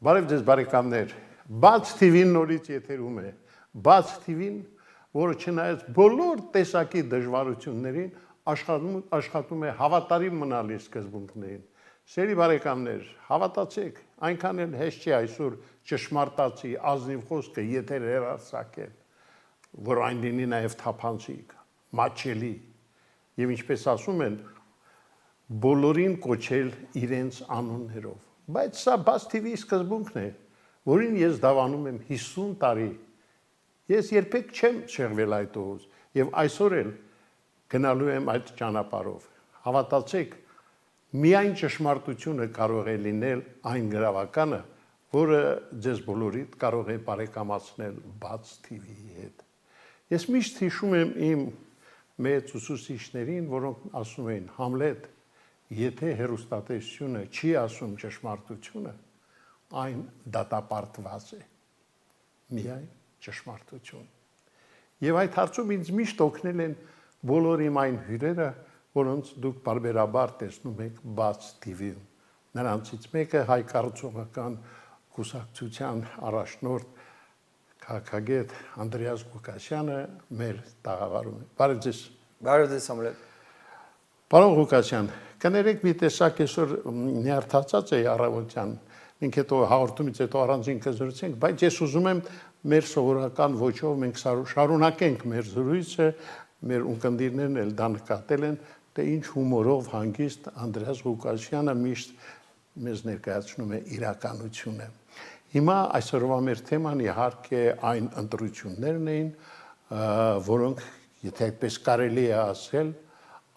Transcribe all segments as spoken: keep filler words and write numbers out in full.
Բարև ձեզ բարեկամներ, Բաց Թի Վին նորից եթերում է, Բաց Թի Վին, որը չնայած բոլոր տեսակի դժվարություններին աշխատում է հավատարիմ մնալի սկզբունքներին։ Սերի բարեկամներ, հավատացեք, այնքան էլ հեշտ չի այսօր ճշմարտացի ազնիվ խոսքը եթեր հեռարձակել, որ այն լինի նաև թափանցիկ, մատչելի, եւ ինչպես ասում են, բոլորին կոչել իրենց անուններով։ Բայց սա Բաց Թի Վիի սկզբունքն է, որին ես դավանում եմ հիսուն տարի։ Ես երբեք չեմ շեղվել այդ ուղուց եւ այսօր էլ գնալու եմ այդ ճանապարհով։ Հավատացեք, միայն ճշմարտությունը կարող է լինել այն գրավականը, որը ձեզ բոլորիդ կարող է բարեկամացնել Բաց Թի Վիի հետ։ Ես միշտ հիշում եմ իմ մեծ ուսուցիչներին, որոնք ասում էին Համլետ, եթե հեռուստատեսությունը չի ասում ճշմարտությունը, այն դատապարտված է, միայն ճշմարտություն։ Եվ այդ հարցում ինձ միշտ օգնել են բոլոր իմ այն հյուրերը, որոնց դուք բարբերաբար տեսնում եք Բաց Թի Վիում։ Նրանցից մեկը հայ կառուցողական կուսակցության առաջնորդ քաղաքագետ Անդրեաս Ղուկասյանը մեր տաղավարում է։ Բարև ձեզ։ Բարև ձեզ Համլետ։ Պարոն Ղուկասյան, կներեք մի տեսակ այսօր նյարդացած է առավոտյան, մենք հետո հաղորդումից հետո առանձին կզրուցենք, բայց ես ուզում եմ մեր սովորական ոճով մենք շարունակենք մեր զրույցը, մեր ունկնդիրներն էլ դա նկատել են, թե ինչ հումորով հանգիստ Անդրեաս Ղուկասյանը միշտ մեզ ներկայացնում է իրականությունը։ Հիմա այսօրվա մեր թեման իհարկե այն ընտրություններն էին, որոնք, եթե այդպես կարելի է ասել,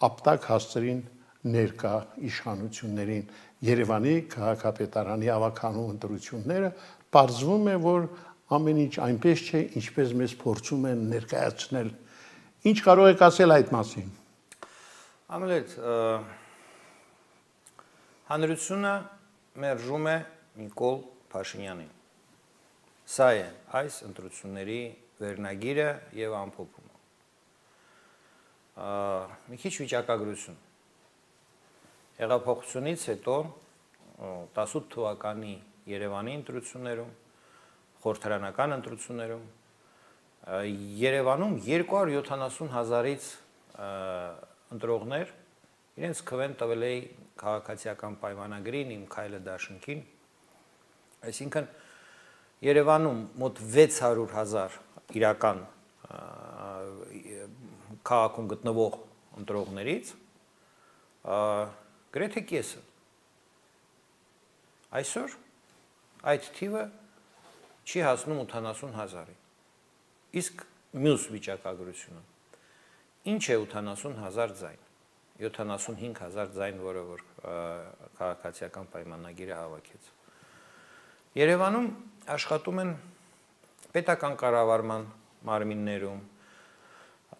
ապտակ հասցրին ներկա իշխանություններին Երևանի քաղաքապետարանի ավականու ընտրությունները, պարզվում է, որ ամեն ինչ այնպես չէ, ինչպես մեզ փորձում են ներկայացնել։ Ինչ կարող եք ասել այդ մասին։ Համլետ, հանրությունը մերժում է Նիկոլ Փաշինյանին։ Սա է այս ընտրությունների վերնագիրը եւ ամփոփումը։ Մի քիչ վիճակագրություն։ Հեղափոխությունից հետո տասութ թվականի Երևանի ընտրություններում, խորհրդարանական ընտրություններում Երևանում երկու հարյուր յոթանասուն հազարից ընտրողներ իրենց քվեն տվել է քաղաքացիական պայմանագրին, իմ քայլը դաշնքին, այսինքն Երևանում մոտ վեց հարյուր հազար իրական քաղաքում գտնվող ընտրողներից գրեթե կեսը։ Այսօր այդ թիվը չի հասնում ութանասուն հազարի։ Իսկ մյուս վիճակագրությունը ինչ է ութանասուն հազար ձայն, յոթանասուն հինգ հազար ձայն, որը որ քաղաքացիական պայմանագիրը հավաքեց։ Երևանում աշխատում են պետական կառավարման մարմիններում,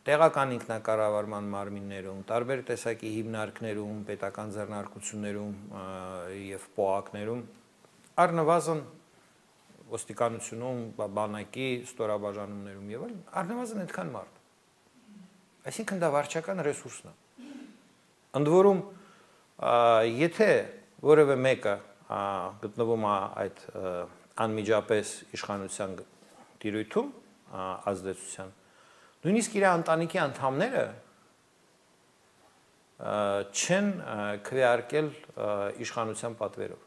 տեղական ինքնակառավարման մարմիններում, տարբեր տեսակի հիմնարկներում, պետական ձեռնարկություններում եւ պոակներում, առնվազն ոստիկանությունում, բանակի ստորաբաժանումներում եւ այլն, առնվազն այդքան մարդ։ Այսինքն դա վարչական ռեսուրսն է։ Ընդ որում, եթե որևէ մեկը գտնվում է այդ անմիջապես իշխանության տիրույթում, ազդեցության, նույնիսկ իր ընտանիքի անդամները չեն քվեարկել իշխանության պատվերով։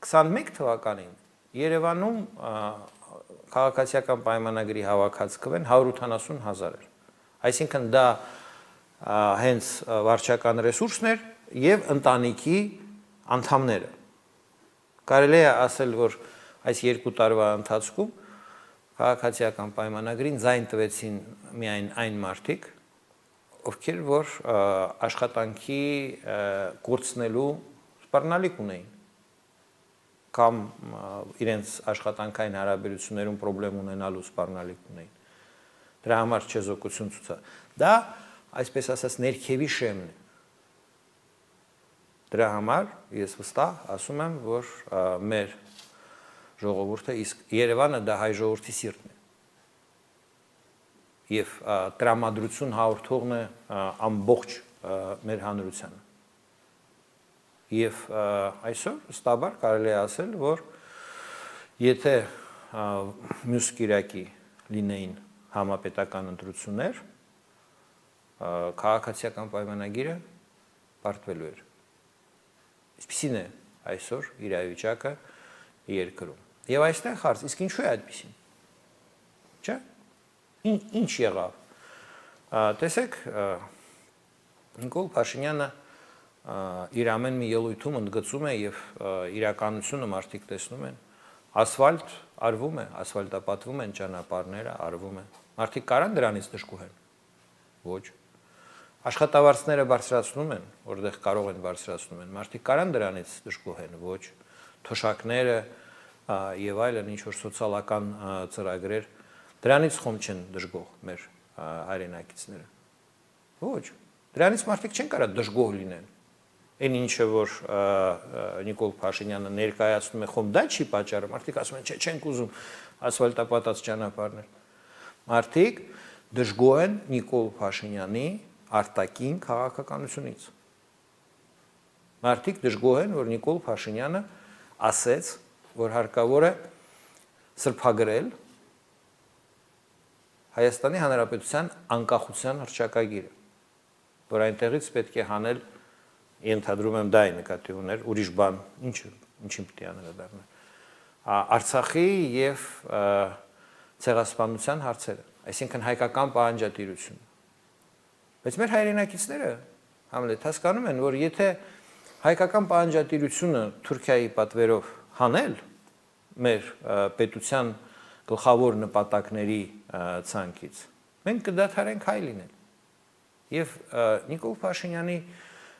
քսանմեկ թվականին Երևանում քաղաքացիական պայմանագրի հավաքած քվեն հարյուր ութանասուն հազար էր։ Այսինքն դա հենց վարչական ռեսուրսն էր եւ ընտանիքի անդամները։ Կարելի է ասել, որ այս երկու տարվա ընթացքում քաղաքացիական պայմանագրին ձայն տվեցին միայն այն մարդիկ, ովքեր որ աշխատանքի կորցնելու սպառնալիք ունեին, կամ իրենց աշխատանքային հարաբերություններում պրոբլեմ ունենալու սպառնալիք ունեին։ Դրա համար չեզոքություն ցույց։ Դա, այսպես ասած, ներքևի շեմն է։ Դրա համար ես վստահ ասում եմ, որ մեր ժողովուրդը, իսկ Երևանը դա հայ ժողովրդի սիրտն է։ Եվ տրամադրություն հաղորդողն է ամբողջ մեր հանրությանը։ Եվ այսօր ստաբար կարելի է ասել, որ եթե մյուս կիրակի լինեին համապետական ընտրություններ, քաղաքացիական պայմանագիրը պարտվելու էր։ Այսպիսին է այսօր իրավիճակը երկրում։ Եվ այստեղ հարց, իսկ ինչու է այդպիսին։ Չէ՞։ Ինչ եղավ։ Տեսեք, Նիկոլ Փաշինյանը իր ամեն մի ելույթում ընդգծում է եւ իրականությունը մարդիկ տեսնում են, ասֆալտ արվում է, ասֆալտապատվում են ճանապարհները, արվում է։ Մարդիկ կարան դրանից դժգոհեն։ Ոչ։ Աշխատավարձները բարձրացնում են, որտեղ կարող են բարձրացնում են։ Մարդիկ կարան դրանից դժգոհեն։ Ոչ։ Թոշակները եւ այլն ինչ որ սոցիալական ծրագրեր դրանից խոմ չեն դժգոհ մեր հայրենակիցները։ Ոչ։ Դրանից մարդիկ չեն կարող դժգոհ լինեն։ Այն ինչը որ Նիկոլ Փաշինյանը ներկայացնում է, խոմ դա չի պատճառը, մարդիկ ասում են, չէ, չենք ուզում ասֆալտապատած ճանապարհներ։ Մարդիկ դժգոհ են Նիկոլ Փաշինյանի արտաքին քաղաքականությունից։ Մարդիկ դժգոհ են, որ Նիկոլ Փաշինյանը ասեց, որ հարկավոր է սրբագրել Հայաստանի Հանրապետության անկախության հռչակագիրը, որ այնտեղից պետք է հանել, ենթադրում եմ դա է նկատի ուներ, ուրիշ բան, ինչ ինչին պետք է անդրադառնալ։ Արցախի եւ ցեղասպանության հարցերը, այսինքն հայկական պահանջատիրությունը։ Բայց մեր հայրենակիցները Համլետ հասկանում են, որ եթե հայկական պահանջատիրությունը Թուրքիայի պատվերով հանել մեր պետության գլխավոր նպատակների ցանկից, մենք կդադարենք հայ լինել։ Եվ Նիկոլ Փաշինյանի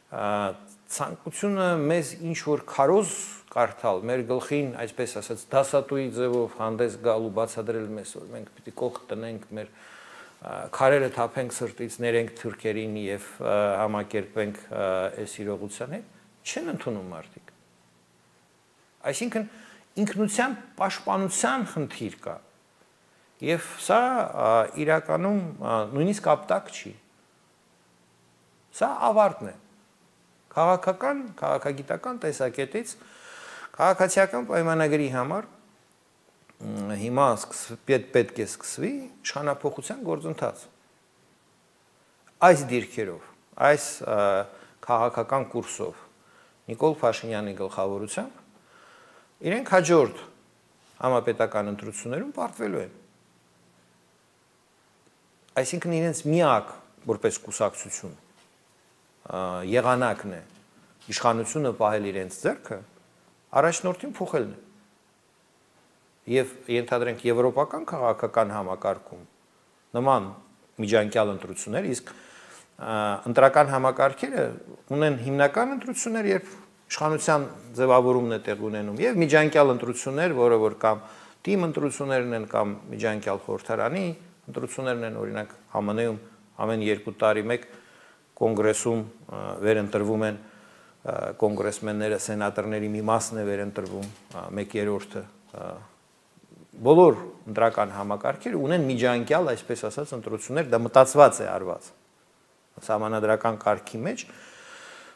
ցանկությունը մեզ ինչ որ քարոզ կարդալ, մեր գլխին, այսպես ասած, դասատուի ձևով հանդես գալ ու բացատրել մեզ, որ մենք պիտի կողք տնենք, մեր քարերը թափենք սրտից, ներենք թուրքերին եւ համակերպենք այս իրողության հետ, չեն ընդունում մարդիկ։ Այսինքն ինքնության պաշտպանության խնդիր կա։ Եվ սա իրականում նույնիսկ ապտակ չի։ Սա ավարտն է։ Քաղաքական, քաղաքագիտական տեսակետից քաղաքացիական պայմանագրի համար հիմա պետք է սկսվի իշխանափոխության գործընթաց։ Այս դիրքերով, այս քաղաքական կուրսով Նիկոլ Փաշինյանի գլխավորությամբ իրենք հաջորդ համապետական ընտրություններում պարտվելու են։ Այսինքն իրենց միակ որպես կուսակցություն եղանակն է իշխանությունը պահել իրենց ձեռքը, առաջնորդին փոխելն է։ Եվ ենթադրենք եվրոպական քաղաքական համակարգում նման միջանկյալ ընտրություններ, իսկ ընտրական համակարգերը ունեն հիմնական ընտրություններ, երբ իշխանության ձևավորումն է տեղ ունենում, եւ միջանկյալ ընտրություններ, որը որ կամ թիմ ընտրություններն են, կամ միջանկյալ խորհրդարանի ընտրություններն են, օրինակ Հ M N-ում ամեն երկու տարի մեկ կոնգրեսում վերընտրվում են կոնգրեսմենները, սենատորների մի մասն է վերընտրվում, մեկ երրորդը։ Բոլոր ընտրական համակարգերը ունեն միջանկյալ, այսպես ասած, ընտրություններ, դա մտածված է արված։ Սահմանադրական կարգի մեջ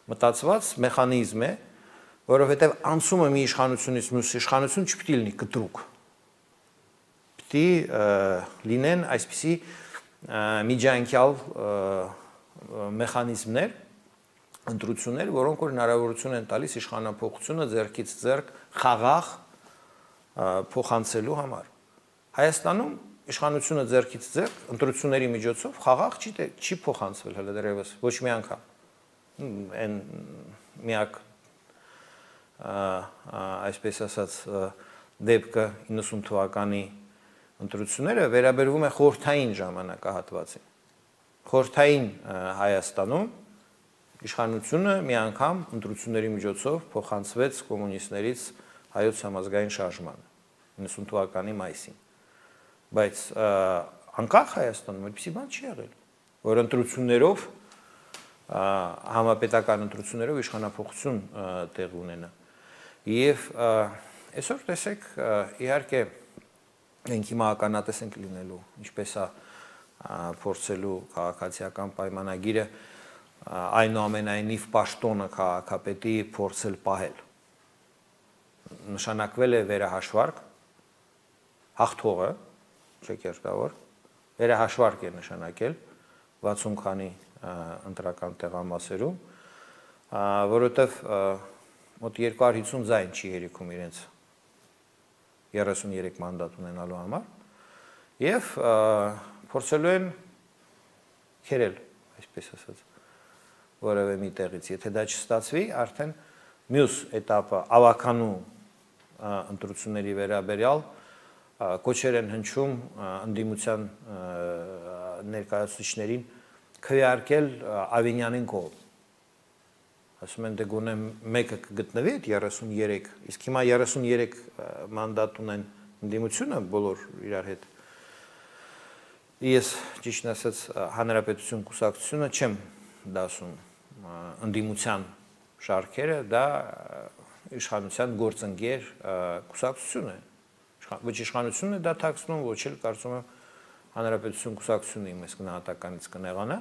մտածված մեխանիզմ է, որովհետև անցումը մի իշխանությունից մյուս իշխանություն չպիտի լինի կտրուկ։ Պիտի լինեն այսպիսի միջանկյալ մեխանիզմներ, ընտրություններ, որոնք որ հնարավորություն են տալիս իշխանափոխությունը ձեռքից ձեռք խաղաղ փոխանցելու համար։ Հայաստանում իշխանությունը ձեռքից ձեռք ընտրությունների միջոցով խաղաղ չի չի փոխանցվել հələ դեռևս ոչ մի անգամ։ Այն միակ այսպես ասած դեպքը իննսուն թվականի ընտրությունները վերաբերվում է խորհրդային ժամանակահատվածին։ Խորհրդային Հայաստանում իշխանությունը մի անգամ ընտրությունների միջոցով փոխանցվեց կոմունիստներից հայոց համազգային շարժմանը իննսուն թվականի մայիսին։ Բայց անկախ Հայաստանում այդպիսի բան չի եղել, որ ընտրություններով համապետական ընտրություններով իշխանափոխություն տեղ ունենա։ Եվ այսօր տեսեք, իհարկե մենք հիմա ականատես ենք լինելու, ինչպես է փորձելու քաղաքացիական պայմանագիրը այնուամենայնիվ պաշտոնը քաղաքապետի փորձել պահել։ Նշանակվել է վերահաշվարկ, հաղթողը, չեք երկավոր, վերահաշվարկ է նշանակել վաթսուն քանի ընտրական տեղամասերում, որովհետև մոտ երկու հարյուր հիսուն ձայն չի երիքում իրենց երեսունյերեք մանդատ ունենալու համար, և փորձելու են քերել, այսպես ասած, որևէ մի տեղից, եթե դա չստացվի, արդեն մյուս էտապը ավականու ընտրությունների վերաբերյալ կոչեր են հնչում ընդդիմության ներկայացուցիչներին քվեարկել Ավինյանին կողմ։ Ասում են, դե գոնե մեկը կգտնվի այդ երեսունյերեք, իսկ հիմա երեսունյերեք մանդատ ունեն ընդդիմությունը բոլոր իրար հետ։ Ես ճիշտն ասած Հանրապետություն կուսակցությունը չեմ դասում ընդդիմության շարքերը, դա իշխանության գործընկեր կուսակցություն է, ոչ իշխանությունն է դա թաքցնում, ոչ էլ կարծում եմ Հանրապետություն կուսակցությունը իմ այս գնահատականից կնեղանա,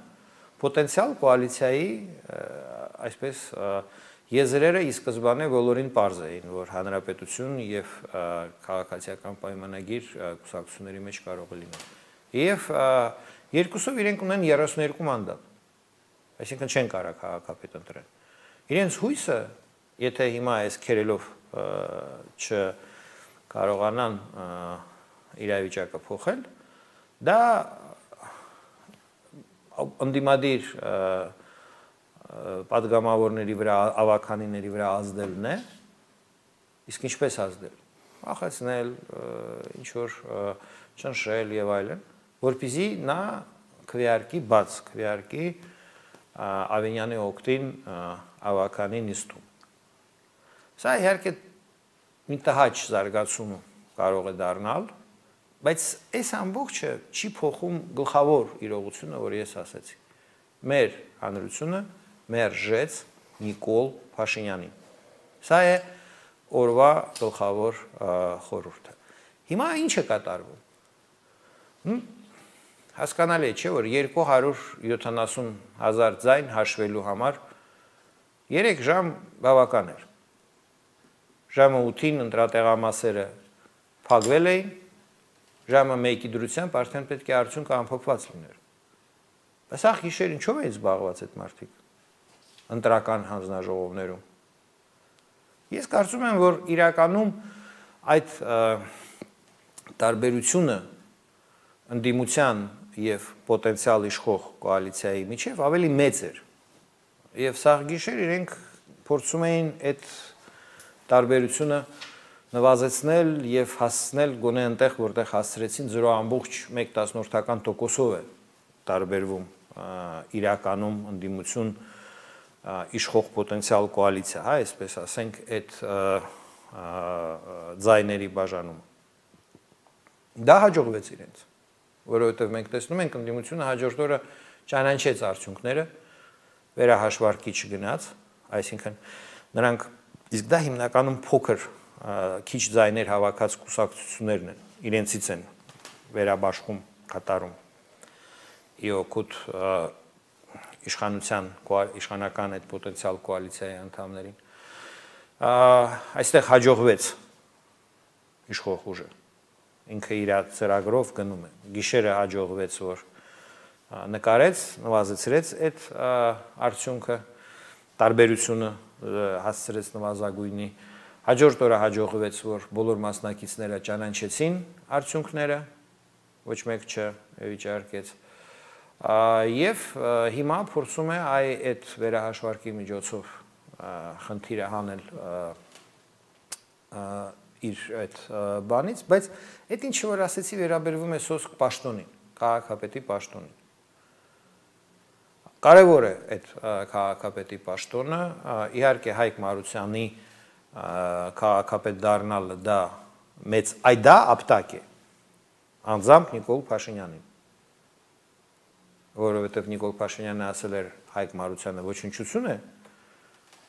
պոտենցիալ կոալիցիայի այսպես եզրերը ի սկզբանե բոլորին պարզ էին, որ Հանրապետություն և քաղաքացիական պայմանագիր կուսակցությունների մեջ կարող է լինել։ Եվ երկուսով իրենք ունեն երեսունյերեք մանդատ, այսինքն չեն կարող քաղաքապետ ընտրել։ Իրենց հույսը, եթե հիմա այս քերելով չկարողանան իրավիճակը փոխել, դա ընդդիմադիր պատգամավորների վրա, ավականիների վրա ազդելն է, իսկ ինչպես ազդել, ախեցնել, ինչ-որ ճնշել և այլն, որպեսզի նա քվեարկի, բաց քվեարկի Ավինյանի օգտին ավականի նիստում։ Սա իհարկե մի տհաճ զարգացում կարող է դառնալ, բայց այս ամբողջը չի փոխում գլխավոր իրողությունը, որ ես ասացի։ Մեր հանրությունը մերժեց Նիկոլ Փաշինյանին։ Սա է օրվա գլխավոր խորհուրդը։ Հիմա ինչ է կատարվում։ Հասկանալի է, չէ, որ երկու հարյուր յոթանասուն հազար ձայն հաշվելու համար երեք ժամ բավական էր։ Ժամը ութին ընտրատեղամասերը փակվել էին, ժամը մեկի դրությամբ արդեն պետք է արդյունքը ամփոփված լիներ։ Բայց ախ գիշեր ինչով էին զբաղված այդ մարդիկ ընտրական հանձնաժողովներում։ Ես կարծում եմ, որ իրականում այդ տարբերությունը ընդդիմության և պոտենցիալ իշխող կոալիցիայի միջև ավելի մեծ էր։ Եվ սաղ գիշեր իրենք փորձում էին այդ տարբերությունը նվազեցնել և հասցնել գոնե այնտեղ, որտեղ հասցրեցին զրո ամբողջ մեկ տասնորդական տոկոսով է տարբերվում իրականում ընդդիմություն իշխող պոտենցիալ կոալիցիա, հա, այսպես ասենք, այդ ձայների բաժանում։ Դա հաջողվեց իրենց, որովհետև մենք տեսնում ենք ընդդիմությունը հաջորդ օրը ճանաչեց արդյունքները, վերահաշվարկի չգնաց, այսինքն նրանք, իսկ դա հիմնականում փոքր քիչ ձայներ հավաքած կուսակցություններն են, իրենցից են վերաբաշխում կատարում ի օգուտ իշխանության, իշխանական այդ պոտենցիալ կոալիցիայի անդամներին։ Այստեղ հաջողվեց իշխող ուժը, ինքը իր ծրագրով գնում է, գիշերը հաջողվեց, որ նկարեց, նվազեցրեց այդ արդյունքը, տարբերությունը հասցրեց նվազագույնի, հաջորդ օրը հաջողվեց, որ բոլոր մասնակիցները ճանաչեցին արդյունքները, ոչ մեկ չվիճարկեց, և հիմա փորձում է այդ վերահաշվարկի միջոցով խնդիրը հանել իր այդ բանից, բայց այդ ինչը որ ասեցի վերաբերվում է սոսկ պաշտոնին, քաղաքապետի պաշտոնին։ Կարևոր է այդ քաղաքապետի պաշտոնը, իհարկե Հայկ Մարությանի քաղաքապետ դառնալը դա մեծ, այ դա ապտակ է, անձամբ Նիկոլ Փաշինյանին, որովհետև Նիկոլ Փաշինյանը ասել էր Հայկ Մարությանը ոչնչություն է,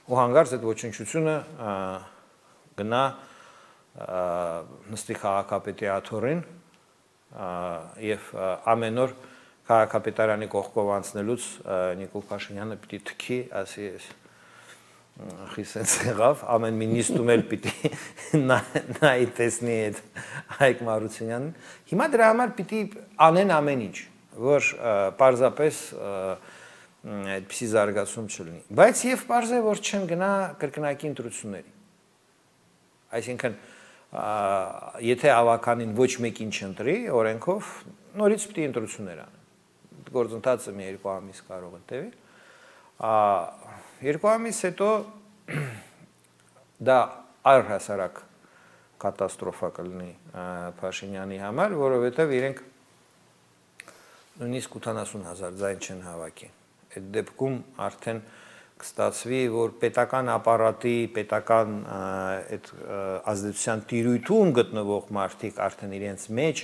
ու հանկարծ այդ ոչնչությունը գնա նստի քաղաքապետի աթոռին և ամեն օր քաղաքապետարանի կողքով անցնելուց Նիկոլ Փաշինյանը պիտի թքի, ասի էս խիսենց եղավ, ամեն մի նիստում էլ պիտի նայի տեսնի այդ Հայկ Մարությունյանին։ Հիմա դրա համար պիտի անեն ամեն ինչ, որ պարզապես այդպիսի զարգացում չլինի։ Բայց եւ պարզ է, որ չեն գնա կրկնակի ընտրությունների։ Այսինքն, եթե ավականին ոչ մեկին չընտրի օրենքով, նորից պիտի ընտրություններ անեն։ Գործընթացը մի երկու ամիս կարող է տևել։ Երկու ամիս հետո դա առհասարակ կատաստրոֆա կլինի Փաշինյանի համար, որովհետև իրենք նույնիսկ ութանասուն հազար ձայն չեն հավաքի։ Այդ դեպքում արդեն կստացվի, որ պետական ապարատի, պետական այդ ազդեցության տիրույթում գտնվող մարդիկ արդեն իրենց մեջ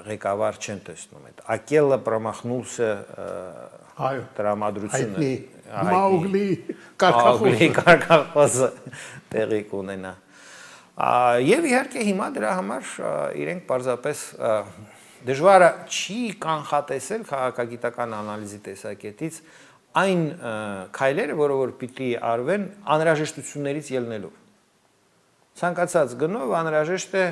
ղեկավար չեն տեսնում այդ Ակելը պրոմախնուլսը տրամադրությունը Մաուգլի կարկախոսը կարկախոսը տեղի կունենա եւ իհարկե հիմա դրա համար իրենք պարզապես դժվարը չի կանխատեսել քաղաքագիտական անալիզի տեսակետից այն քայլերը, որը որ պիտի արվեն անհրաժեշտություններից ելնելով ցանկացած գնով անհրաժեշտ է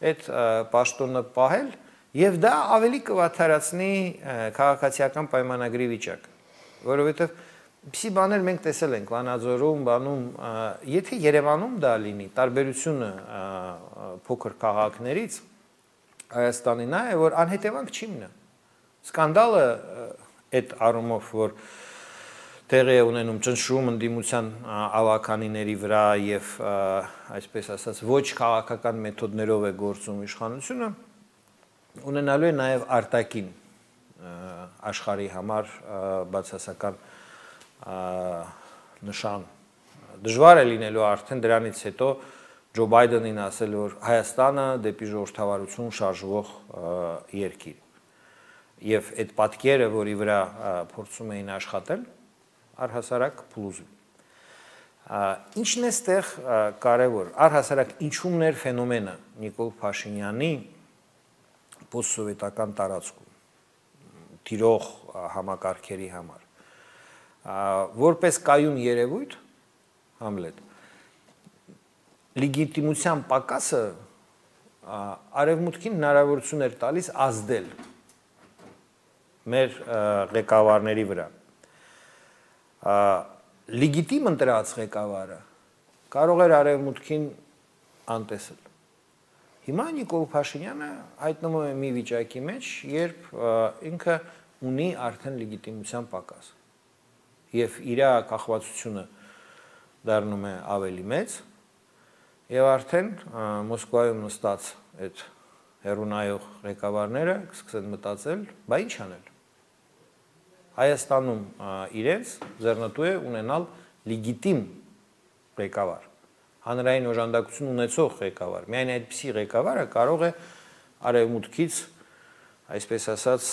այդ պաշտոնը պահել եւ դա ավելի կվատթարացնի քաղաքացիական պայմանագրի վիճակը, որովհետեւ Պիսի բաներ մենք տեսել ենք Վանաձորում, բանում, եթե Երևանում դա լինի, տարբերությունը փոքր քաղաքներից Հայաստանի նա է, որ անհետևանք չի մնա։ Սկանդալը այդ առումով, որ տեղի է ունենում ճնշում ընդդիմության ավականիների վրա եւ այսպես ասած ոչ քաղաքական մեթոդներով է գործում իշխանությունը, ունենալու է նաեւ արտաքին աշխարհի համար բացասական նշան դժվար է լինելու արդեն դրանից հետո Ջո Բայդենին ասել, որ Հայաստանը դեպի ժողովրդավարություն շարժվող երկիր եւ այդ պատկերը, որի վրա փորձում էին աշխատել, առհասարակ փլուզվի։ Ինչն է ստեղ կարևոր, առհասարակ ինչումներ ֆենոմենը Նիկոլ Փաշինյանի պոստսովետական տարածքում տիրող համակարգերի համար որպես կայուն երևույթ Համլետ լեգիտիմության պակասը արևմուտքին հնարավորություն էր տալիս ազդել մեր ղեկավարների վրա լեգիտիմ ընտրած ղեկավարը կարող էր արևմուտքին անտեսել հիմա Նիկոլ Փաշինյանը հայտնվում է մի վիճակի մեջ երբ ինքը ունի արդեն լեգիտիմության պակաս եւ իր կախվածությունը դառնում է ավելի մեծ եւ արդեն Մոսկվայում նստած այդ հերունայող ղեկավարները կսկսեն մտածել, բա ինչ անել։ Հայաստանում իրենց ձեռնտու է ունենալ լեգիտիմ ղեկավար, հանրային օժանդակություն ունեցող ղեկավար։ Միայն այդպիսի ղեկավարը կարող է արևմուտքից, այսպես ասած,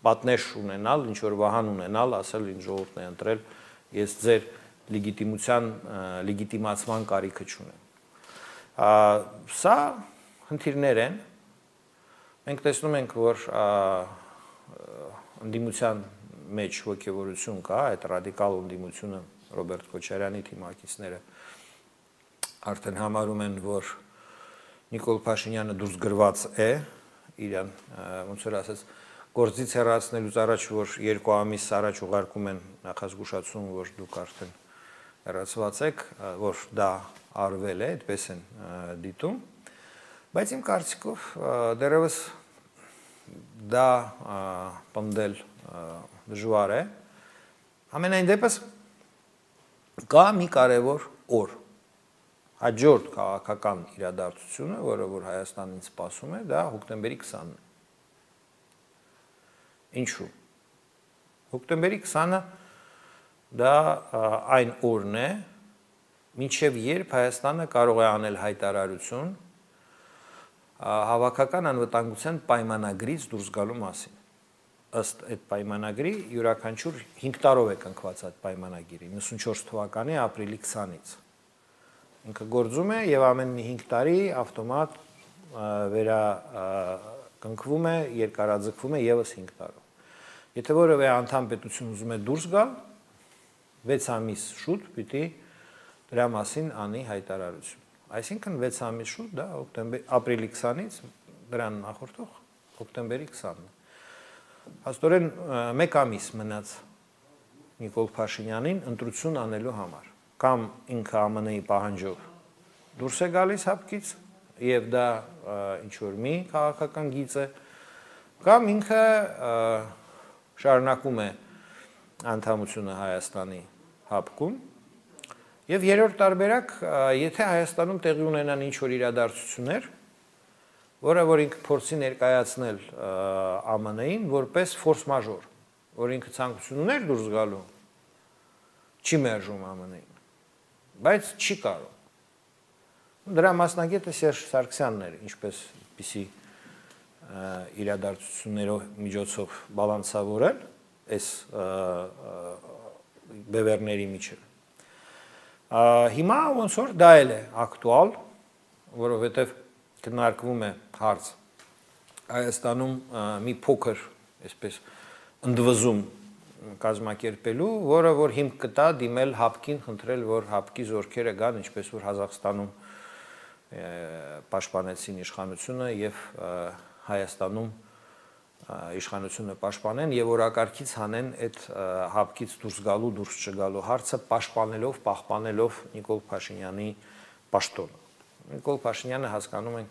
պատնեշ ունենալ, ինչ որ վահան ունենալ, ասել ինձ ժողովուրդն է ընտրել, ես ձեր լեգիտիմության, լեգիտիմացման կարիքը չունեմ։ Սա խնդիրներ են։ Մենք տեսնում ենք, որ ընդդիմության մեջ ոգևորություն կա, այդ ռադիկալ ընդդիմությունը Ռոբերտ Քոչարյանի թիմակիցները արդեն համարում են, որ Նիկոլ Փաշինյանը դուրս գրված է, իրան ոնց որ ասած գործից հեռացնելուց առաջ, որ երկու ամիս առաջ ուղարկում են նախազգուշացում, որ դուք արդեն հեռացված եք, որ դա արվել է, այդպես են դիտում, բայց իմ կարծիքով դեռևս դա պնդել դժվար է, ամենայն դեպս կա մի կարևոր օր, հաջորդ քաղաքական իրադարձությունը, որը որ Հայաստանին սպասում է, դա հոկտեմբերի քսանն է։ Ինչու։ Հոկտեմբերի քսանը դա այն օրն է, մինչև երբ Հայաստանը կարող է անել հայտարարություն հավաքական անվտանգության պայմանագրից դուրս գալու մասին։ Ըստ այդ պայմանագրի յուրաքանչյուր հինգ տարով է կնքված այդ պայմանագիրը, իննսունչորս թվականի ապրիլի քսանից։ Ինքը գործում է եւ ամեն հինգ տարի ավտոմատ վերա կնքվում է, երկարաձգվում է եւս հինգ տարով։ Եթե որևէ անդամ պետություն ուզում է դուրս գալ, վեց ամիս շուտ պիտի դրա մասին անի հայտարարություն։ Այսինքն վեց ամիս շուտ, դա օկտեմբեր ապրիլի քսանից դրան նախորդող օկտեմբերի քսանն է։ Հաստորեն մեկ ամիս մնաց Նիկոլ Փաշինյանին ընտրություն անելու համար։ Կամ ինքը ԱՄՆ-ի պահանջով դուրս է գալիս հապկից եւ դա ինչ որ մի քաղաքական գիծ է, կամ ինքը շարունակում է անդամությունը Հայաստանի հապկում եւ երրորդ տարբերակ, եթե Հայաստանում տեղի ունենան ինչ որ իրադարձություններ, որը որ ինքը փորձի ներկայացնել ԱՄՆ-ին որպես ֆորս մաժոր, որ ինքը ցանկություն ուներ դուրս գալու, չի մերժում ԱՄՆ-ին, բայց չի կարող։ Դրա մասնագետը Սերժ Սարգսյանն էր, ինչպես պիսի իրադարձություններով միջոցով բալանսավորել այս բևեռների միջև։ Հիմա ոնց որ դա էլ է ակտուալ, որովհետև քննարկվում է հարց Հայաստանում մի փոքր, այսպես ընդվզում կազմակերպելու, որը որ հիմք կտա դիմել հապկին, խնդրել, որ հապկի զորքերը գան, ինչպես որ Ղազախստանում պաշտպանեցին իշխանությունը եւ Հայաստանում իշխանությունը պաշտպանեն եւ օրակարգից հանեն այդ հապկից դուրս գալու, դուրս չգալու հարցը պաշտպանելով, պահպանելով Նիկոլ Փաշինյանի պաշտոնը։ Նիկոլ Փաշինյանը հասկանում ենք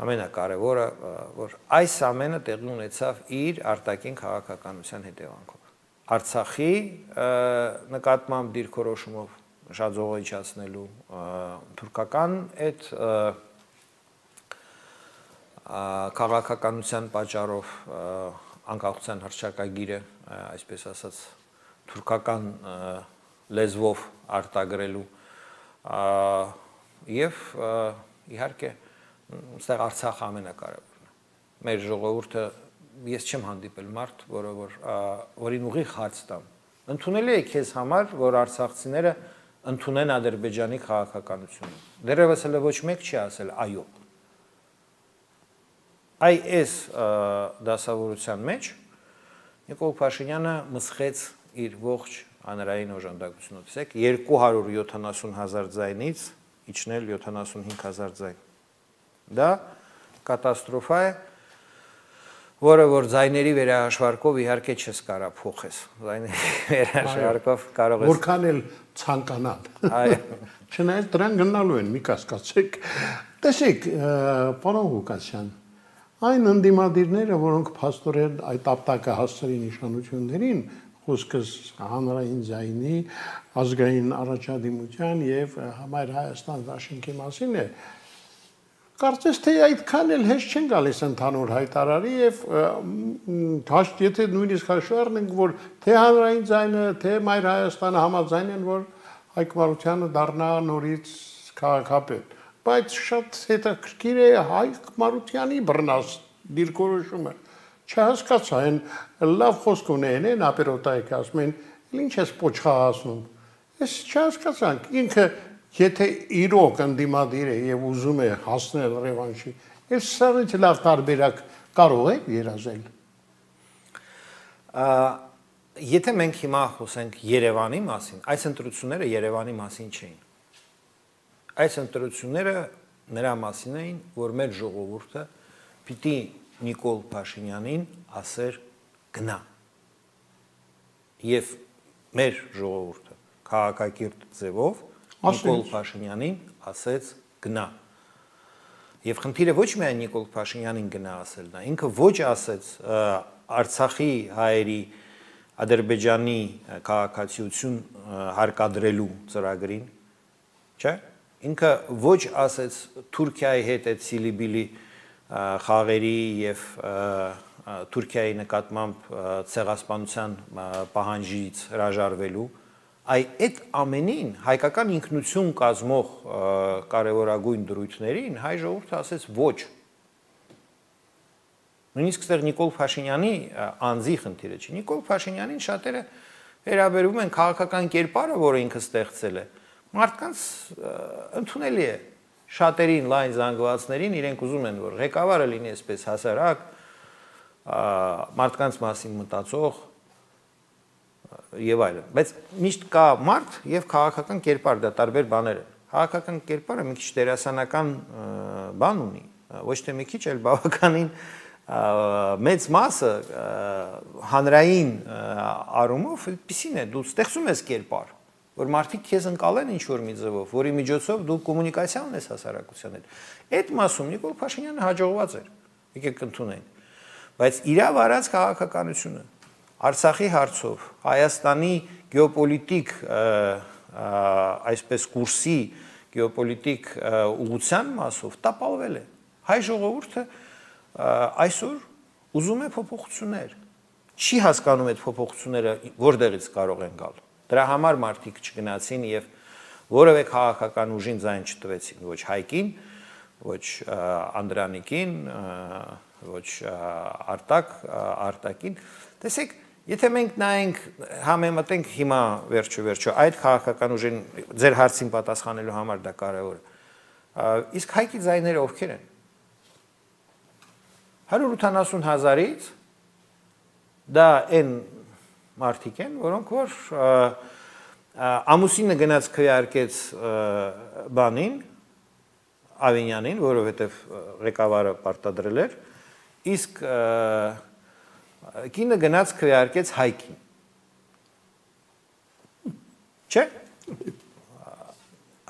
ամենակարևորը, որ այս ամենը տեղի ունեցավ իր արտաքին քաղաքականության հետևանքով։ Արցախի նկատմամբ դիրքորոշումով շաձողիչացնելու թուրքական այդ քաղաքականության պատճառով անկախության հռչակագիրը, այսպես ասած, թուրքական լեզվով արտագրելու եւ իհարկե այստեղ Արցախը ամենակարևորն է։ Մեր ժողովուրդը ես չեմ հանդիպել մարդ, որը որ որին ուղիղ հարց տամ։ Ընդունելի է քեզ համար, որ արցախցիները ընդունեն Ադրբեջանի քաղաքականությունը։ Դեռևս հələ ոչ մեկ չի ասել այո։ Այ այս դասավորության մեջ Նիկոլ Փաշինյանը մսխեց իր ողջ հանրային օժանդակությունը։ Տեսեք, երկու հարյուր յոթանասուն հազար ձայնից իջնել յոթանասունհինգ հազար ձայն։ Դա կատաստրոֆա է, որը որ ձայների վերահաշվարկով իհարկե չես կարա փոխես։ Ձայների վերահաշվարկով կարող ես որքան էլ ցանկանալ։ Այո։ Չնայած դրան գնալու են, մի կասկածեք։ Տեսեք, պարոն Ղուկասյան, այն ընդդիմադիրները, որոնք փաստորեն այդ ապտակը հասցրին իշխանություններին, խոսքս հանրային ձայնի, ազգային առաջադիմության եւ Համայր Հայաստան դաշինքի մասին է, կարծես թե այդքան էլ հեշտ չեն գալիս ընդհանուր հայտարարի եւ հաշտ եթե նույնիսկ հաշվառնենք, որ թե հանրային ձայնը, թե Մայր Հայաստանը համաձայն են, որ Հայկ Մարությանը դառնա նորից քաղաքապետ, բայց շատ հետաքրքիր է Հայկ Մարությանի բռնած դիրքորոշումը։ Չհասկացա, այն լավ խոսք ունեն, են ապերոտայք ասում են, ինչ ես պոչխահասնում։ Ես չհասկացանք, ինքը եթե իրոք ընդդիմադիր է եւ ուզում է հասնել ռևանշի, այս սարից լավ տարբերակ կարող է երազել։ Եթե մենք հիմա խոսենք Երևանի մասին, այս ընտրությունները Երևանի մասին չէին։ Այս ընտրությունները նրա մասին էին, որ մեր ժողովուրդը պիտի Նիկոլ Փաշինյանին ասեր գնա։ Եվ մեր ժողովուրդը քաղաքակիրթ ձևով Նիկոլ Փաշինյանին ասեց գնա։ Եվ խնդիրը ոչ միայն Նիկոլ Փաշինյանին գնա ասելն է, ինքը ոչ ասեց Արցախի հայերի Ադրբեջանի քաղաքացիություն հարկադրելու ծրագրին, չէ՞։ Ինքը ոչ ասեց Թուրքիայի հետ այդ Սիլիբիլի խաղերի եւ Թուրքիայի նկատմամբ ցեղասպանության պահանջից հրաժարվելու, այ այդ ամենին հայկական ինքնություն կազմող կարևորագույն դրույթներին հայ ժողովուրդը ասեց ոչ։ Նույնիսկ այստեղ Նիկոլ Փաշինյանի անձի խնդիրը չի։ Նիկոլ Փաշինյանին շատերը վերաբերում են քաղաքական կերպարը, որը ինքը ստեղծել է։ Մարդկանց ընդունելի է, շատերին լայն զանգվածներին իրենք ուզում են, որ ղեկավարը լինի այսպես հասարակ, մարդկանց մասին մտածող եւ այլն։ Բայց միշտ կա մարդ եւ քաղաքական կերպար, դա տարբեր բաներ են։ Քաղաքական կերպարը մի քիչ դերասանական բան ունի, ոչ թե մի քիչ, այլ բավականին մեծ մասը հանրային առումով այդպեսին է, դու ստեղծում ես կերպար, որ մարդիկ քեզ ընկալեն ինչ-որ մի ձևով, որի միջոցով դու կոմունիկացիա ունես հասարակության հետ։ Այդ մասում Նիկոլ Փաշինյանը հաջողված էր, եկեք ընդունենք։ Բայց իր վարած քաղաքականությունը Արցախի հարցով, Հայաստանի գեոպոլիտիկ այսպես կուրսի գեոպոլիտիկ ուղղության մասով տապալվել է։ Հայ ժողովուրդը այսօր ուզում է փոփոխություններ։ Չի հասկանում այդ փոփոխությունները որտեղից կարող են գալ։ Դրա համար մարդիկ չգնացին եւ որևէ քաղաքական ուժին ձայն չտվեցին, ոչ Հայկին, ոչ Անդրանիկին, ոչ Արտակ, Արտակին։ Տեսեք, եթե մենք նայենք համեմատենք հիմա վերջո վերջո այդ քաղաքական ուժին ձեր հարցին պատասխանելու համար դա կարևոր է։ Իսկ Հայկի ձայները ովքեր են։ հարյուր ութանասուն հազարից դա այն մարդիկ են, որոնք որ ամուսինը գնաց քվեարկեց բանին, Ավինյանին, որովհետև ղեկավարը պարտադրել էր, իսկ կինը գնաց քվեարկեց Հայկին։ Չէ՞։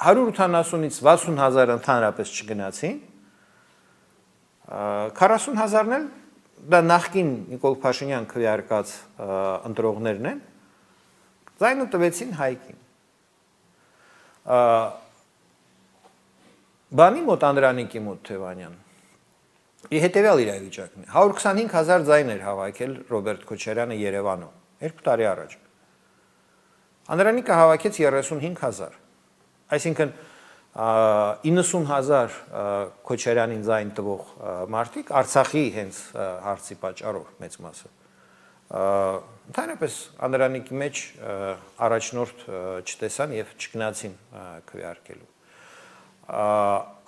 հարյուր ութանասունից վաթսուն հազար ընդհանրապես չգնացին, քառասուն հազարն էլ դա նախկին Նիկոլ Փաշինյան քվեարկած ընտրողներն են, ձայնը տվեցին Հայկին։ Բանի մոտ Անդրանիկի մոտ Թևանյան հետևյալ իրավիճակն է։ հարյուր քսանհինգ հազար ձայն էր հավաքել Ռոբերտ Քոչարյանը Երևանում, երկու տարի առաջ։ Անդրանիկը հավաքեց երեսունհինգ հազար, այսինքն իննսուն հազար Քոչարյանին ձայն տվող մարդիկ Արցախի հենց հարցի պատճառով մեծ մասը ընդհանրապես Անդրանիկի մեջ առաջնորդ չտեսան եւ չգնացին քվեարկելու։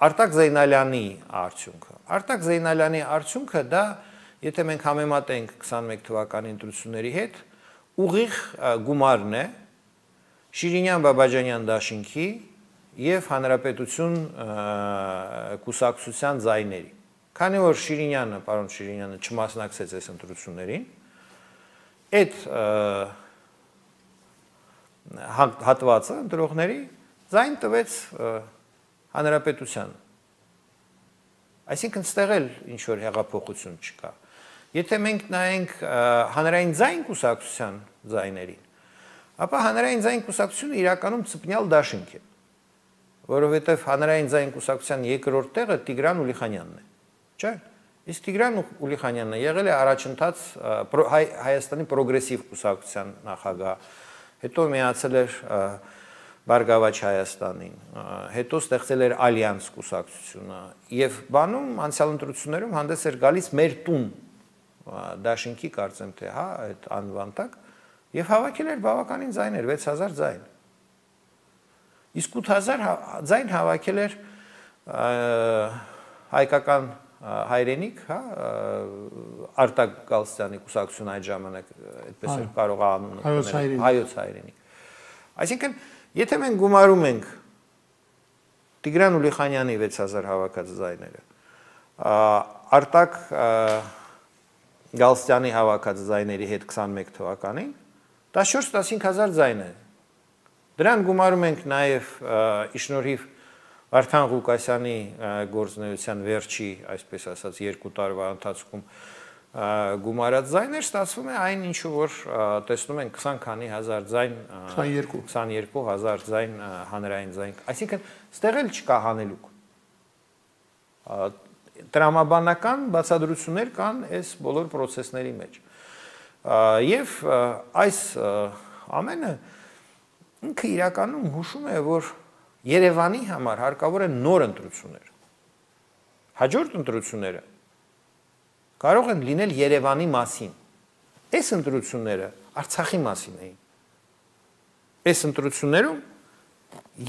Արտակ Զեյնալյանի արդյունքը Արտակ Զեյնալյանի արդյունքը դա եթե մենք համեմատենք քսանմեկ թվականի ընտրությունների հետ ուղիղ գումարն է Շիրինյան Բաբաջանյան դաշինքի եւ Հանրապետություն կուսակցության ձայների։ Քանի որ Շիրինյանը, պարոն Շիրինյանը չմասնակցեց այս ընտրություններին, այդ հատվածը ընտրողների ձայն տվեց Հանրապետության։ Այսինքն ստեղ էլ ինչ որ հեղափոխություն չկա։ Եթե մենք նայենք հանրային ձայն կուսակցության ձայներին, ապա հանրային ձայն կուսակցությունը իրականում ծպնյալ դաշինք է, որովհետև հանրային ձայն կուսակցության երկրորդ տեղը Տիգրան Ուլիխանյանն է, չէ՞։ Իսկ Տիգրան Ուլիխանյանը եղել է առաջընթաց Հայաստանի պրոգրեսիվ կուսակցության նախագահ, հետո միացել էր Բարգավաճ Հայաստանին, հետո ստեղծել էր Ալյանս կուսակցությունը եւ բանում անցյալ ընտրություններում հանդես էր գալիս մեր տուն դաշինքի կարծեմ թե հա այդ անվան տակ եւ հավաքել էր բավականին ձայներ վեց հազար ձայն։ Իսկ ութ հազար ձայն հավաքել էր հայկական հայրենիք, հա, Արտակ Գալստյանի կուսակցությունը այդ ժամանակ այդպես էր կարող անունը հայոց հայրենիք։ Այսինքն, եթե մենք գումարում ենք Տիգրան Ուլիխանյանի վեց հազար հավաքած ձայները, Արտակ Գալստյանի հավաքած ձայների հետ քսանմեկ թվականին, տասնչորս-տասնհինգ հազար ձայն է։ Դրան գումարում ենք նաև իշնորհիվ Վարդան Ղուկասյանի գործունեության վերջի, այսպես ասած, երկու տարվա ընթացքում գումարած ձայներ, ստացվում է այն ինչը որ տեսնում ենք քսան քանի հազար ձայն, քսաներկու հազար ձայն հանրային ձայն։ Այսինքն, ստեղ էլ չկա հանելուկ։ Տրամաբանական բացատրություններ կան այս բոլոր process-ների մեջ։ Եվ այս ամենը ինքը իրականում հուշում է, որ Երևանի համար հարկավոր է նոր ընտրություններ։ Հաջորդ ընտրությունները կարող են լինել Երևանի մասին։ Այս ընտրությունները Արցախի մասին էին։ Այս ընտրություններում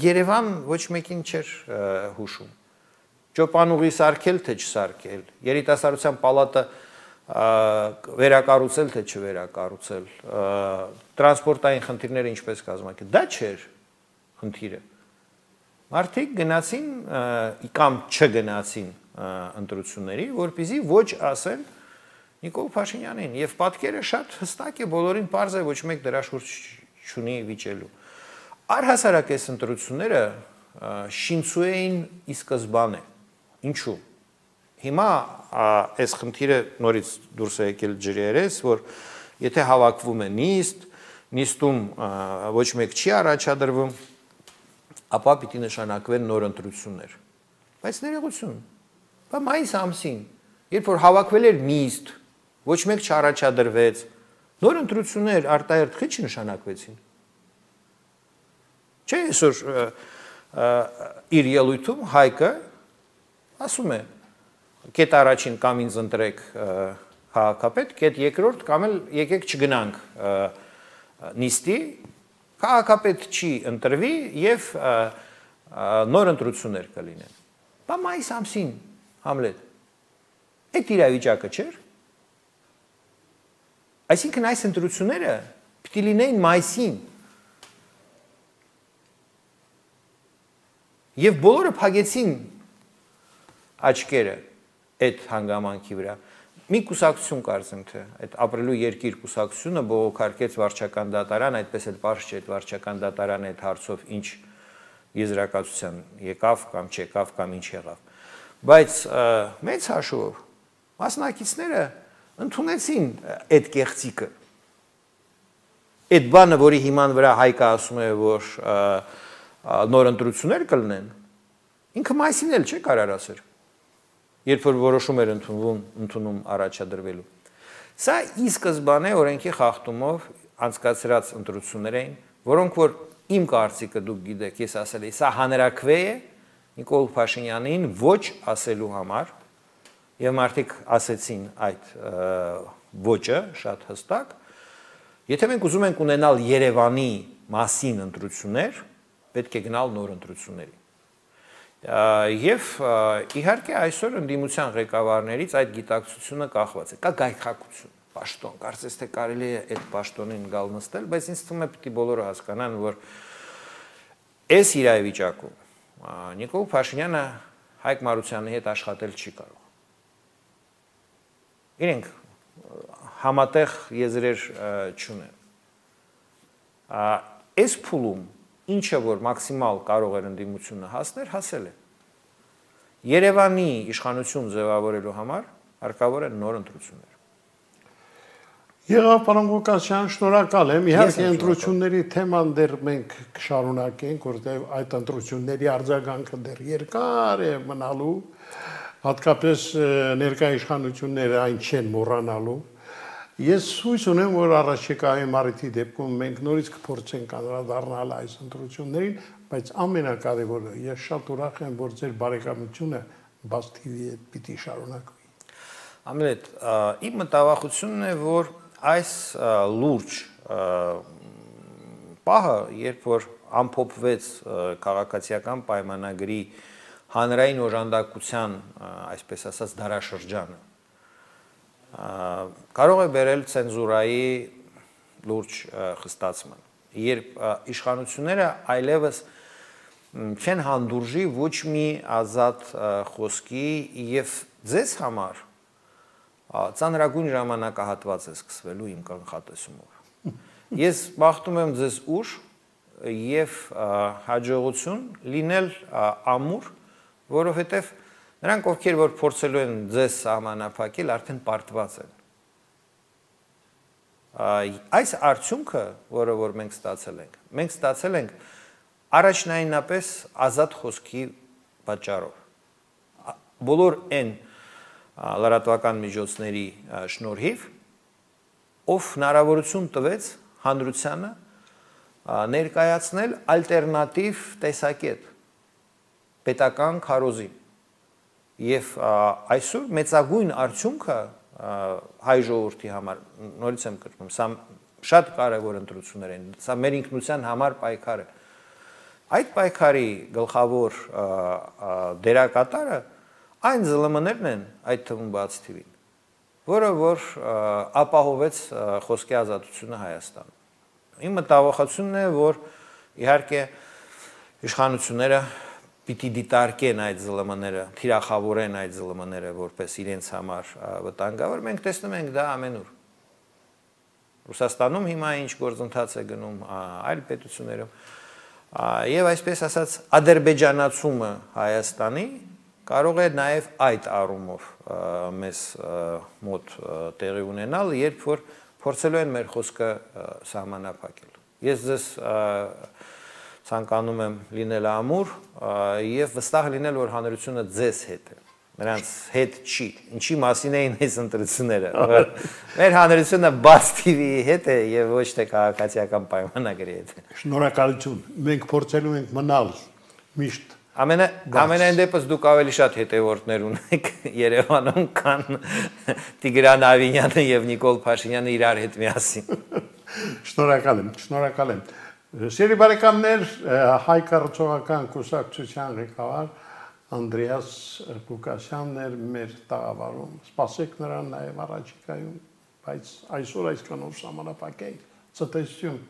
Երևան ոչ մեկին չէր հուշում։ ճոպանուղի սարքել, թե չսարքել, երիտասարդության պալատը վերակառուցել, թե չվերակառուցել, տրանսպորտային խնդիրները ինչպես կազմակերպել, դա չէր խնդիրը։ Մարդիկ գնացին կամ չգնացին ընտրությունների, որպեսզի ոչ ասեն Նիկոլ Փաշինյանին, եւ պատկերը շատ հստակ է, բոլորին պարզ է, ոչ մեկ դրա շուրջ չունի վիճելու։ Առհասարակ այս ընտրությունները շինցուեին ի սկզբանե։ Ինչու՞։ Հիմա այս խնդիրը նորից դուրս է եկել ջրերես, որ եթե հավաքվում է նիստ, նիստում ոչ մեկ չի առաջադրվում, ապա պիտի նշանակվեն նոր ընտրություններ։ Բայց ներողություն, բա մայիս ամսին, երբ որ հավաքվել էր նիստ, ոչ մեկ չառաջադրվեց, նոր ընտրություններ արտահերթ քիչ նշանակվեցին։ Չէ, այսօր իր ելույթում Հայկը ասում է, կետ առաջին կամ ինձ ընտրեք քաղաքապետ, կետ երկրորդ կամ էլ եկեք չգնանք նիստի, քաղաքապետ չի ընտրվի եւ նոր ընտրություններ կլինեն։ Բա մայիս ամսին, Համլետ, այդ իրավիճակը չէր։ Այսինքն այս ընտրությունները պիտի լինեին մայիսին։ Եվ բոլորը փակեցին աչքերը այդ հանգամանքի վրա։ Մի կուսակցություն կարծեմ թե այդ ապրելու երկիր կուսակցությունը բողոքարկեց վարչական դատարան, այդպես էլ պարզ չէ այդ վարչական դատարանը այդ հարցով ինչ եզրակացության եկավ կամ չեկավ կամ ինչ եղավ։ Բայց մեծ հաշվով մասնակիցները ընդունեցին այդ կեղծիկը։ Այդ բանը, որի հիման վրա Հայկը ասում է, որ նոր ընտրություններ կլինեն, ինքը մայիսին էլ չէ կարար ասել։ Երբ որ որոշում էր ընդունվում, ընդունում առաջադրվելու։ Սա ի սկզբանե օրենքի խախտումով անցկացրած ընտրություններ էին, որոնք որ իմ կարծիքը դուք գիտեք, ես ասել եմ, սա հանրակրվե է Նիկոլ Փաշինյանին ոչ ասելու համար, եւ մարդիկ ասեցին այդ ոճը շատ հստակ։ Եթե մենք ուզում ենք ունենալ Երևանի մասին ընտրություններ, պետք է գնալ նոր ընտրությունների։ Եվ իհարկե այսօր ընդդիմության ղեկավարներից այդ գիտակցությունը կախված է։ Կա գայթակղություն, պաշտոն, կարծես թե կարելի է այդ պաշտոնին գալ նստել, բայց ինձ թվում է պիտի բոլորը հասկանան, որ այս իրավիճակում Նիկոլ Փաշինյանը Հայկ Մարությանի հետ աշխատել չի կարող։ Իրենք համատեղ եզրեր չունեն։ Այս փուլում ինչը որ մաքսիմալ կարող էր ընդդիմությունը հասնել, հասել է։ Երևանի իշխանություն ձևավորելու համար հարկավոր են նոր ընտրություններ։ Եղավ պարոն Ղուկասյան, շնորհակալ եմ։ Իհարկե ընտրությունների թեման դեռ մենք կշարունակենք, որտեղ այդ ընտրությունների արձագանքը դեռ երկար է մնալու, հատկապես ներկայ իշխանությունները այն չեն մոռանալու։ Ես հույս ունեմ, որ առաջիկայի մարտի դեպքում մենք նորից կփորձենք անդրադառնալ այս ընտրություններին, բայց ամենակարևորը ես շատ ուրախ եմ, որ ձեր բարեկամությունը Բաց թի վի-ի հետ պիտի շարունակվի։ Ամլետ, իմ մտավախությունն է, որ այս լուրջ պահը, երբ որ ամփոփվեց քաղաքացիական պայմանագրի հանրային օժանդակության, այսպես ասած, դարաշրջանը, կարող է բերել ցենզուրայի լուրջ խստացման, երբ իշխանությունները այլևս չեն հանդուրժի ոչ մի ազատ խոսքի եւ ձեզ համար ծանրագույն ժամանակահատված է սկսվելու իմ կանխատեսումով։ Ես բախտում եմ ձեզ ուժ եւ հաջողություն լինել ամուր, որովհետեւ նրանք, ովքեր որ փորձելու են ձեզ սահմանափակել, արդեն պարտված են։ Այս արդյունքը, որը որ մենք ստացել ենք, մենք ստացել ենք առաջնայինապես ազատ խոսքի պատճառով։ Բոլոր այն լրատվական միջոցների շնորհիվ, ով հնարավորություն տվեց հանրությանը ներկայացնել ալտերնատիվ տեսակետ պետական քարոզին։ Եվ այսօր մեծագույն արդյունքը հայ ժողովրդի համար, նորից եմ կրկնում, սա շատ կարևոր ընտրություններ են, սա մեր ինքնության համար պայքար է։ Այդ պայքարի գլխավոր դերակատարը այն զլ եմ-ներն են այդ թվում բաց թիվին, որը որ ապահովեց խոսքի ազատությունը Հայաստանում։ Իմ մտավախությունն է, որ իհարկե իշխանությունները պիտի դիտարկեն այդ զլ եմ-ները, թիրախավորեն այդ զլ եմ-ները որպես իրենց համար վտանգավոր, մենք տեսնում ենք դա ամենուր։ Ռուսաստանում հիմա ինչ գործընթաց է գնում, այլ պետություններում, եւ այսպես ասած ադրբեջանացումը Հայաստանի կարող է նաև այդ առումով մեզ մոտ տեղի ունենալ, երբ որ փորձելու են մեր խոսքը սահմանափակել։ Ես ձեզ ցանկանում եմ լինել ամուր եւ վստահ լինել, որ հանրությունը ձեզ հետ է։ Նրանց հետ չի։ Ինչի մասին էին այս ընտրությունները։ Մեր հանրությունը բաց թիվի հետ է եւ ոչ թե քաղաքացիական պայմանագրի հետ։ Շնորհակալություն։ Մենք փորձելու ենք մնալ միշտ Ամենը ամենայն դեպս դուք ավելի շատ հետևորդներ ունեք Երևանում, քան Տիգրան Ավինյանը եւ Նիկոլ Փաշինյանը իրար հետ միասին։ Շնորհակալ եմ, շնորհակալ եմ։ Սիրելի բարեկամներ, Հայ կառուցողական կուսակցության ղեկավար Անդրեաս Ղուկասյանն էր մեր տաղավարում։ Սպասեք նրան նաև առաջիկայում, բայց այսօր այսքանով ժամանակ ենք։ Ցտեսություն։